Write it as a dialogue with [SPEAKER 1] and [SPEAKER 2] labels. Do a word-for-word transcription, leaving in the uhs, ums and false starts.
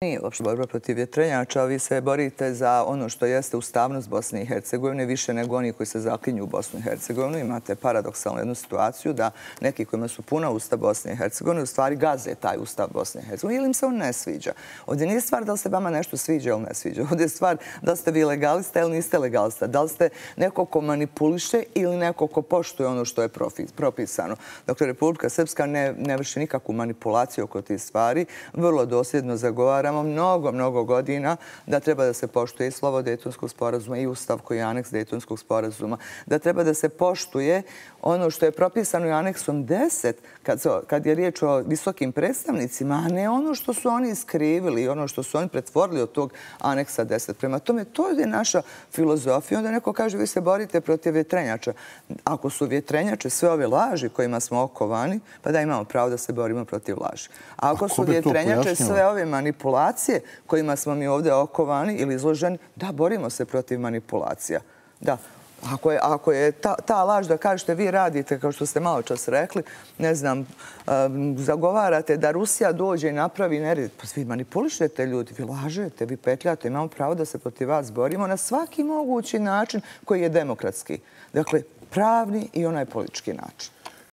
[SPEAKER 1] Nije uopšte borba protiv vjetrenjača, vi se borite za ono što jeste ustavnost Bosne i Hercegovine, više nego oni koji se zaklinju u Bosnu i Hercegovinu. Imate paradoksalnu jednu situaciju da neki kojima su puna usta Bosne i Hercegovine u stvari gaze taj ustav Bosne i Hercegovine ili im se on ne sviđa. Ovdje nije stvar da li se vama nešto sviđa ili ne sviđa. Ovdje je stvar da li ste vi legalista ili niste legalista. Da li ste neko ko manipuliše ili neko ko poštuje ono što je propisano. Dakle, Republika Srpska ne, ne vrši nikakvu manipulaciju oko tih stvari. Vrlo dosljedno zagovara mnogo, mnogo godina da treba da se poštuje i slovo Dejtonskog sporazuma i ustav koji je aneks Dejtonskog sporazuma, da treba da se poštuje ono što je propisano i aneksom deset kad, kad je riječ o visokim predstavnicima, a ne ono što su oni iskrivili i ono što su oni pretvorili od tog aneksa deset. Prema tome, to je naša filozofija. Onda neko kaže, vi se borite protiv vjetrenjača. Ako su vjetrenjače sve ove laži kojima smo okovani, pa da imamo pravo da se borimo protiv laži. A ako su vjetrenjače sve ove manipulacije kojima smo mi ovdje okovani ili izloženi, da, borimo se protiv manipulacija. Da. Ako je, ako je ta, ta laž da kažete vi radite, kao što ste malo čas rekli, ne znam, um, zagovarate da Rusija dođe i napravi nered. Pa vi manipulišete ljudi, vi lažete, vi petljate. Imamo pravo da se protiv vas borimo na svaki mogući način koji je demokratski. Dakle, pravni i onaj politički način.